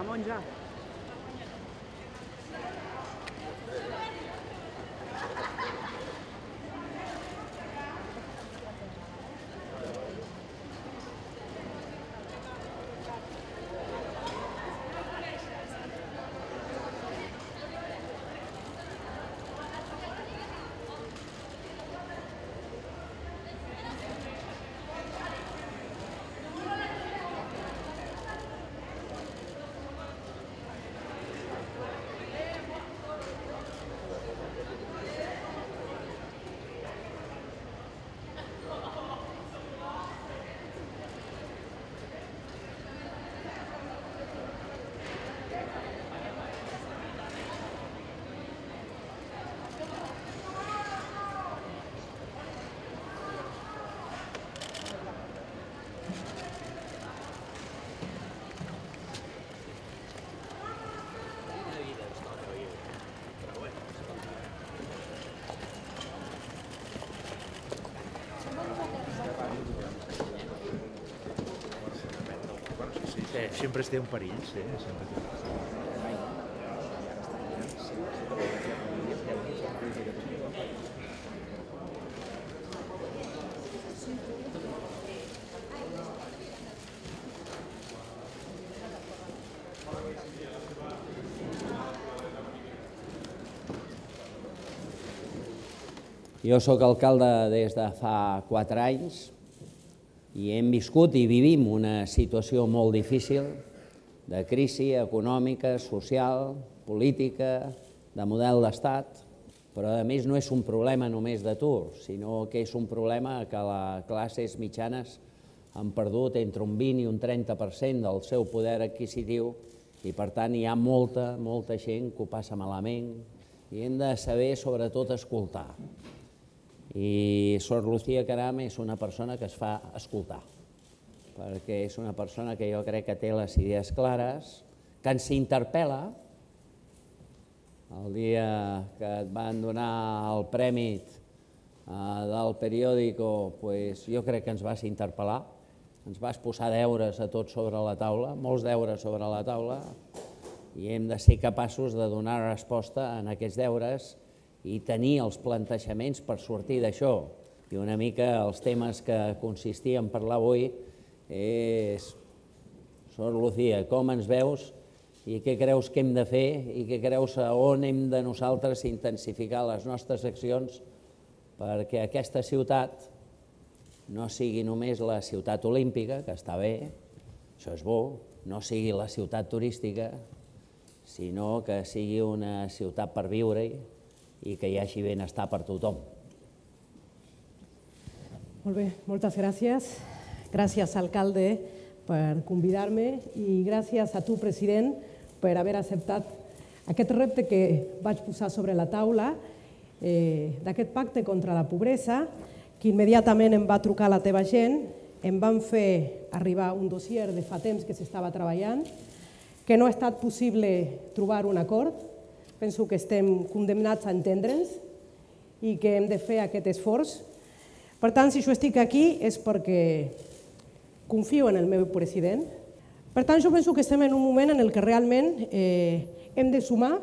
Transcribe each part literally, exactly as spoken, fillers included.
monja, monja. Siempre té un perill, sí, sempre té un perill. Jo soc alcalde des de fa quatre anys i hem viscut i vivim una situació molt difícil de crisi econòmica, social, política, de model d'estat, però a més no és un problema només d'atur, sinó que és un problema que les classes mitjanes han perdut entre un vint i un trenta per cent del seu poder adquisitiu i per tant hi ha molta, molta gent que ho passa malament i hem de saber sobretot escoltar. I Sor Lucía Caram és una persona que es fa escoltar, perquè és una persona que jo crec que té les idees clares, que ens interpel·la. El dia que et van donar el premi del periòdico, jo crec que ens vas interpel·lar, ens vas posar deures a tots sobre la taula, molts deures sobre la taula, i hem de ser capaços de donar resposta a aquests deures i tenir els plantejaments per sortir d'això. I una mica els temes que consistia en parlar avui és, Sor Lucía, com ens veus i què creus que hem de fer i què creus on hem de nosaltres intensificar les nostres accions perquè aquesta ciutat no sigui només la ciutat olímpica, que està bé, això és bo, no sigui la ciutat turística, sinó que sigui una ciutat per viure-hi i que hi hagi benestar per tothom. Molt bé, moltes gràcies. Gràcies, alcalde, per convidar-me i gràcies a tu, president, per haver acceptat aquest repte que vaig posar sobre la taula d'aquest pacte contra la pobresa, que immediatament em va trucar la teva gent, em van fer arribar un dossier de fa temps que s'estava treballant, que no ha estat possible trobar un acord. Penso que estem condemnats a entendre'ns i que hem de fer aquest esforç. Per tant, si jo estic aquí és perquè confio en el meu president. Per tant, jo penso que estem en un moment en què realment hem de sumar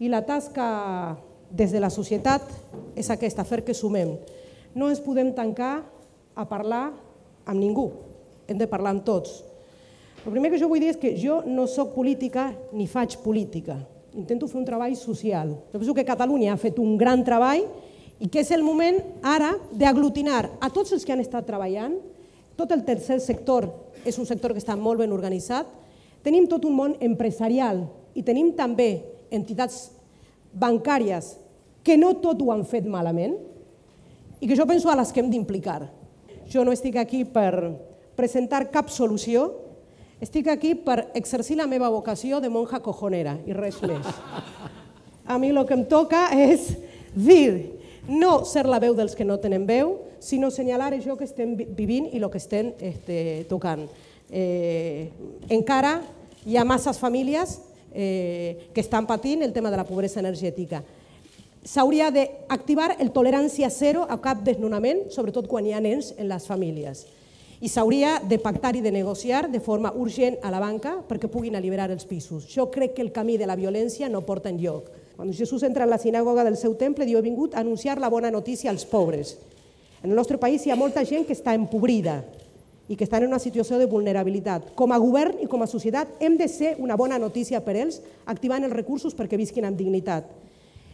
i la tasca des de la societat és aquesta, fer que sumem. No ens podem tancar a parlar amb ningú, hem de parlar amb tots. El primer que jo vull dir és que jo no soc política ni faig política. Intento fer un treball social. Jo penso que Catalunya ha fet un gran treball i que és el moment ara d'aglutinar a tots els que han estat treballant. Tot el tercer sector és un sector que està molt ben organitzat. Tenim tot un món empresarial i tenim també entitats bancàries que no tot ho han fet malament i que jo penso a les que hem d'implicar. Jo no estic aquí per presentar cap solució, estic aquí per exercir la meva vocació de monja cojonera i res més. A mi el que em toca és dir, no ser la veu dels que no tenen veu, sinó assenyalar això que estem vivint i el que estem tocant. Encara hi ha masses famílies que estan patint el tema de la pobresa energètica. S'hauria d'activar el tolerància zero a cap desnonament, sobretot quan hi ha nens en les famílies. i s'hauria de pactar i de negociar de forma urgent a la banca perquè puguin alliberar els pisos. Jo crec que el camí de la violència no porta enlloc. Quan Jesús entra en la sinagoga del seu temple, diu: he vingut a anunciar la bona notícia als pobres. En el nostre país hi ha molta gent que està empobrida i que estan en una situació de vulnerabilitat. Com a govern i com a societat hem de ser una bona notícia per ells, activant els recursos perquè visquin amb dignitat.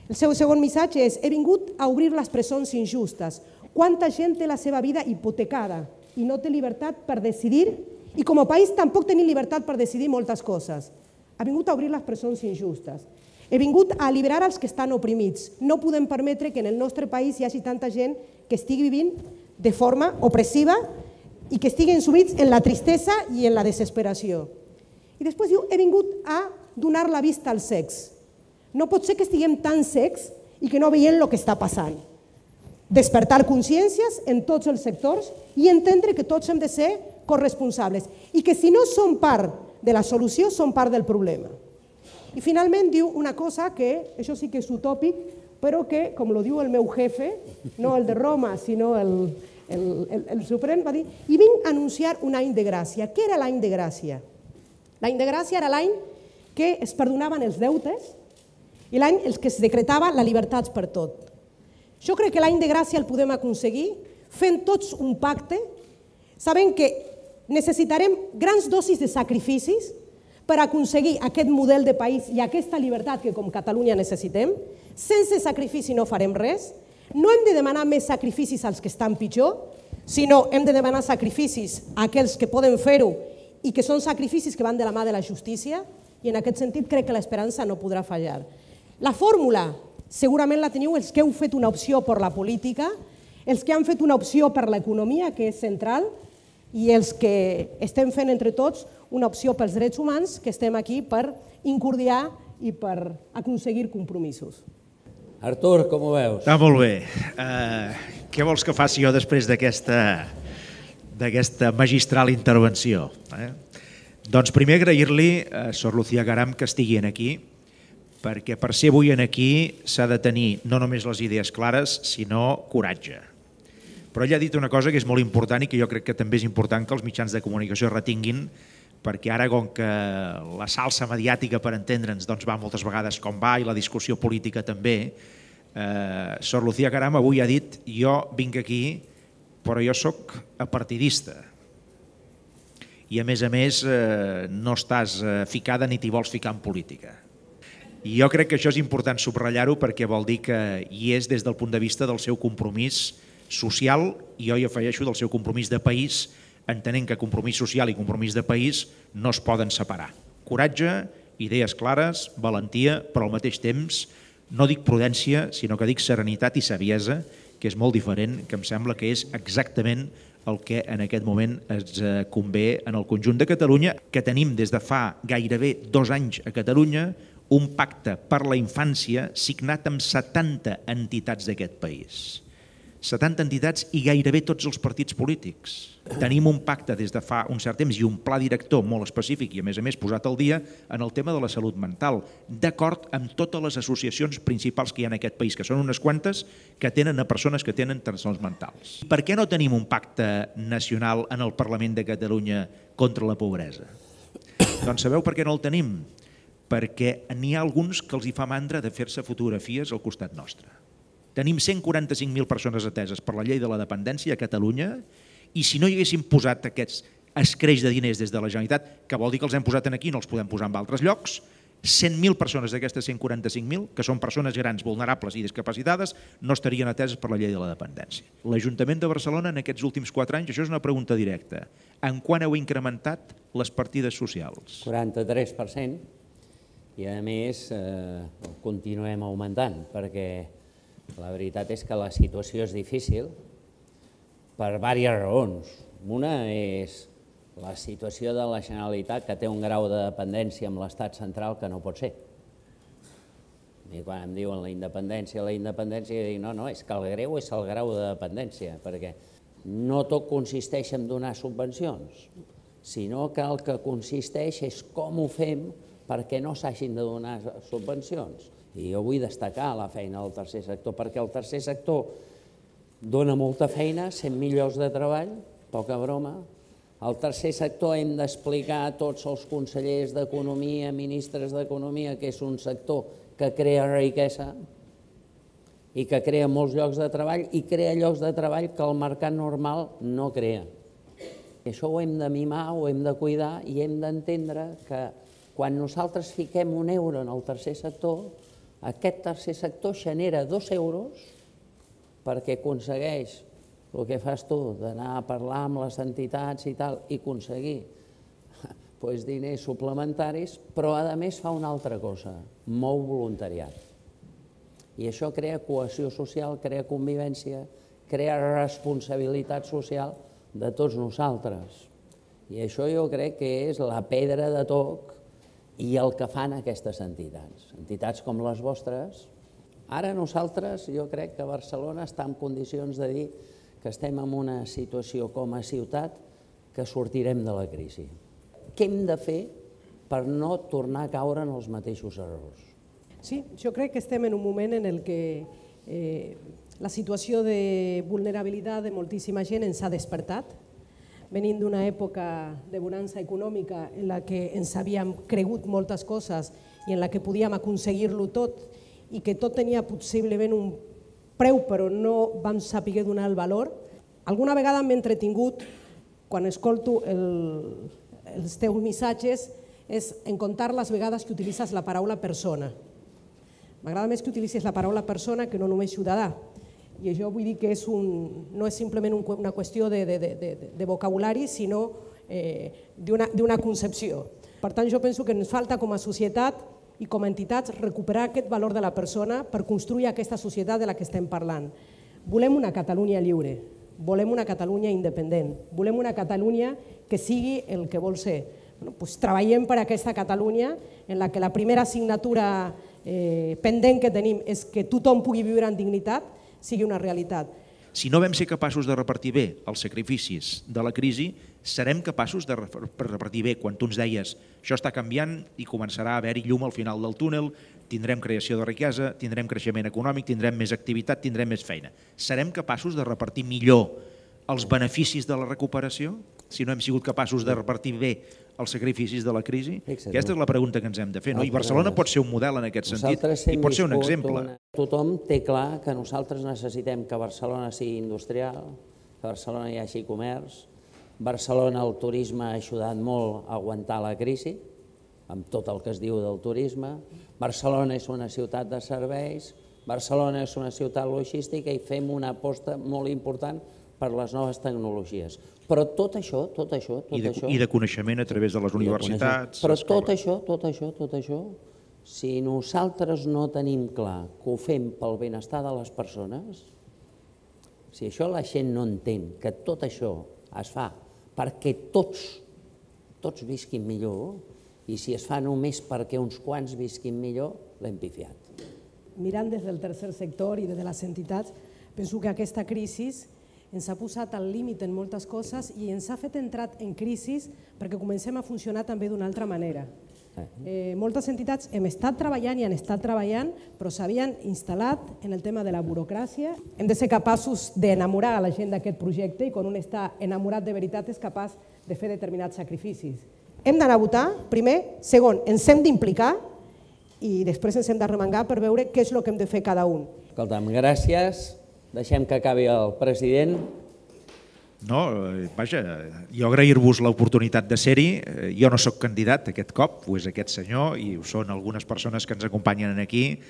El seu segon missatge és: he vingut a obrir les presons injustes. Quanta gent té la seva vida hipotecada i no té llibertat per decidir, i com a país tampoc tenim llibertat per decidir moltes coses. Ha vingut a obrir les presons injustes. He vingut a alliberar els que estan oprimits. No podem permetre que en el nostre país hi hagi tanta gent que estigui vivint de forma opressiva i que estiguin sumits en la tristesa i en la desesperació. I després diu: he vingut a donar la vista als cecs. No pot ser que estiguem tan cecs i que no veiem el que està passant. Despertar consciències en tots els sectors i entendre que tots hem de ser corresponsables i que si no som part de la solució, som part del problema. I finalment diu una cosa que, això sí que és utòpic, però que, com lo diu el meu jefe, no el de Roma, sinó el, el, el, el Suprem, va dir: i vinc a anunciar un any de gràcia. Què era l'any de gràcia? L'any de gràcia era l'any que es perdonaven els deutes i l'any en què es decretava la llibertat per tot. Jo crec que l'any de gràcia el podem aconseguir fent tots un pacte, sabent que necessitarem grans dosis de sacrificis per aconseguir aquest model de país i aquesta llibertat que com Catalunya necessitem. Sense sacrifici no farem res. No hem de demanar més sacrificis als que estan pitjor, sinó hem de demanar sacrificis a aquells que poden fer-ho i que són sacrificis que van de la mà de la justícia, i en aquest sentit crec que l'esperança no podrà fallar. La fórmula segurament la teniu els que heu fet una opció per la política, els que han fet una opció per l'economia, que és central, i els que estem fent entre tots una opció pels drets humans, que estem aquí per incordiar i per aconseguir compromisos. Artur, com ho veus? Està molt bé. Uh, què vols que faci jo després d'aquesta d'aquesta magistral intervenció? Eh? Doncs primer agrair-li a Sor Lucía Caram que estigui aquí, perquè per ser avui aquí s'ha de tenir no només les idees clares, sinó coratge. Però ella ha dit una cosa que és molt important i que jo crec que també és important que els mitjans de comunicació retinguin, perquè ara, com que la salsa mediàtica, per entendre'ns, doncs va moltes vegades com va, i la discussió política també, eh, Sor Lucía Caram avui ha dit: jo vinc aquí, però jo sóc apartidista. I a més a més eh, no estàs ficada ni t'hi vols ficar en política. I jo crec que això és important subratllar-ho, perquè vol dir que hi és des del punt de vista del seu compromís social, i jo hi afegeixo del seu compromís de país, entenent que compromís social i compromís de país no es poden separar. Coratge, idees clares, valentia, però al mateix temps no dic prudència, sinó que dic serenitat i saviesa, que és molt diferent, que em sembla que és exactament el que en aquest moment ens convé en el conjunt de Catalunya, que tenim des de fa gairebé dos anys a Catalunya un pacte per la infància signat amb setanta entitats d'aquest país. setanta entitats i gairebé tots els partits polítics. Tenim un pacte des de fa un cert temps i un pla director molt específic i a més a més posat al dia en el tema de la salut mental, d'acord amb totes les associacions principals que hi ha en aquest país, que són unes quantes, que tenen a persones que tenen trastorns mentals. Per què no tenim un pacte nacional en el Parlament de Catalunya contra la pobresa? Doncs sabeu per què no el tenim? Perquè n'hi ha alguns que els hi fa mandra de fer-se fotografies al costat nostre. Tenim cent quaranta-cinc mil persones ateses per la llei de la dependència a Catalunya, i si no hi haguéssim posat aquests escreix de diners des de la Generalitat, que vol dir que els hem posat aquí i no els podem posar en altres llocs, cent mil persones d'aquestes cent quaranta-cinc mil, que són persones grans, vulnerables i discapacitades, no estarien ateses per la llei de la dependència. L'Ajuntament de Barcelona en aquests últims quatre anys, això és una pregunta directa, en quant heu incrementat les partides socials? quaranta-tres per cent, i a més eh, continuem augmentant, perquè la veritat és que la situació és difícil per diverses raons. Una és la situació de la Generalitat, que té un grau de dependència amb l'estat central que no pot ser. I quan em diuen la independència, la independència, jo dic, no, no, és que el greu és el grau de dependència, perquè no tot consisteix en donar subvencions, sinó que el que consisteix és com ho fem perquè no s'hagin de donar subvencions. I jo vull destacar la feina del tercer sector, perquè el tercer sector dona molta feina, cent mil llocs de treball, poca broma, Al tercer sector hem d'explicar a tots els consellers d'Economia, ministres d'Economia, que és un sector que crea riquesa i que crea molts llocs de treball i crea llocs de treball que el mercat normal no crea. I això ho hem de mimar, ho hem de cuidar i hem d'entendre que quan nosaltres fiquem un euro en el tercer sector, aquest tercer sector genera dos euros perquè aconsegueix el que fas tu, d'anar a parlar amb les entitats i tal, i aconseguir doncs, diners suplementaris, però a més fa una altra cosa, mou voluntariat. I això crea cohesió social, crea convivència, crea responsabilitat social de tots nosaltres. I això jo crec que és la pedra de toc i el que fan aquestes entitats. Entitats com les vostres. Ara nosaltres, jo crec que Barcelona està en condicions de dir que estem en una situació com a ciutat que sortirem de la crisi. Què hem de fer per no tornar a caure en els mateixos errors? Sí, jo crec que estem en un moment en el que eh, la situació de vulnerabilitat de moltíssima gent ens ha despertat. Venint d'una època de bonança econòmica en la que ens havíem cregut moltes coses i en la que podíem aconseguir-lo tot i que tot tenia possiblement un preu però no vam saber donar el valor. Alguna vegada m'he entretingut, quan escolto el, els teus missatges, és en comptar les vegades que utilitzes la paraula persona. M'agrada més que utilitzis la paraula persona que no només ciutadà. I això vull dir que és un, no és simplement un, una qüestió de, de, de, de vocabulari, sinó eh, d'una concepció. Per tant, jo penso que ens falta com a societat i com a entitats recuperar aquest valor de la persona per construir aquesta societat de la que estem parlant. Volem una Catalunya lliure, volem una Catalunya independent, volem una Catalunya que sigui el que vol ser. Bueno, doncs treballem per aquesta Catalunya en la que la primera assignatura eh, pendent que tenim és que tothom pugui viure en dignitat, sigui una realitat. Si no vam ser capaços de repartir bé els sacrificis de la crisi, serem capaços de repartir bé quan tu ens deies això està canviant i començarà a haver-hi llum al final del túnel, tindrem creació de riquesa, tindrem creixement econòmic, tindrem més activitat, tindrem més feina. Serem capaços de repartir millor els beneficis de la recuperació si no hem sigut capaços de repartir bé els sacrificis de la crisi? Aquesta és la pregunta que ens hem de fer. I Barcelona pot ser un model en aquest sentit i pot ser un exemple. Tothom té clar que nosaltres necessitem que Barcelona sigui industrial, que Barcelona hi hagi comerç. Barcelona, el turisme ha ajudat molt a aguantar la crisi, amb tot el que es diu del turisme. Barcelona és una ciutat de serveis, Barcelona és una ciutat logística i fem una aposta molt important per les noves tecnologies. Però tot això, tot això, tot això... I de coneixement a través de les universitats... Però tot això, tot això, tot això, si nosaltres no tenim clar que ho fem pel benestar de les persones, si això la gent no entén, que tot això es fa perquè tots, tots visquin millor, i si es fa només perquè uns quants visquin millor, l'hem pifiat. Mirant des del tercer sector i des de les entitats, penso que aquesta crisi ens ha posat al límit en moltes coses i ens ha fet entrar en crisi perquè comencem a funcionar també d'una altra manera. Eh, moltes entitats hem estat treballant i han estat treballant, però s'havien instal·lat en el tema de la burocràcia. Hem de ser capaços d'enamorar a la gent d'aquest projecte i quan un està enamorat de veritat és capaç de fer determinats sacrificis. Hem d'anar a votar, primer. Segon, ens hem d'implicar i després ens hem de remengar per veure què és el que hem de fer cada un. Escolta'm, gràcies. Deixem que acabi el president. No, vaja, jo agrair-vos l'oportunitat de ser-hi. Jo no sóc candidat aquest cop, ho és aquest senyor i ho són algunes persones que ens acompanyen aquí,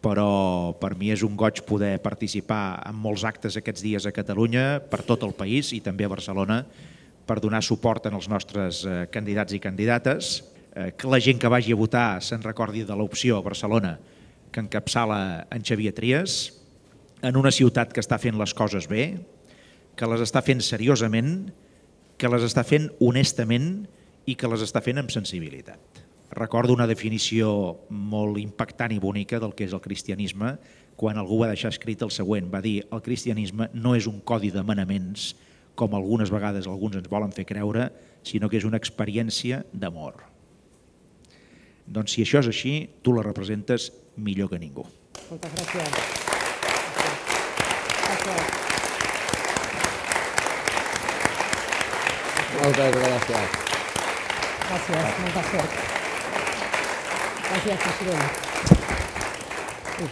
però per mi és un goig poder participar en molts actes aquests dies a Catalunya, per tot el país i també a Barcelona, per donar suport als nostres candidats i candidates, que la gent que vagi a votar se'n recordi de l'opció a Barcelona que encapçala en Xavier Trias, en una ciutat que està fent les coses bé, que les està fent seriosament, que les està fent honestament i que les està fent amb sensibilitat. Recordo una definició molt impactant i bonica del que és el cristianisme, quan algú va deixar escrit el següent, va dir: el cristianisme no és un codi de manaments, com algunes vegades alguns ens volen fer creure, sinó que és una experiència d'amor. Doncs si això és així, tu la representes millor que ningú. Moltes gràcies. Moltes gràcies. Gràcies, molta sort. Gràcies, president. Ui,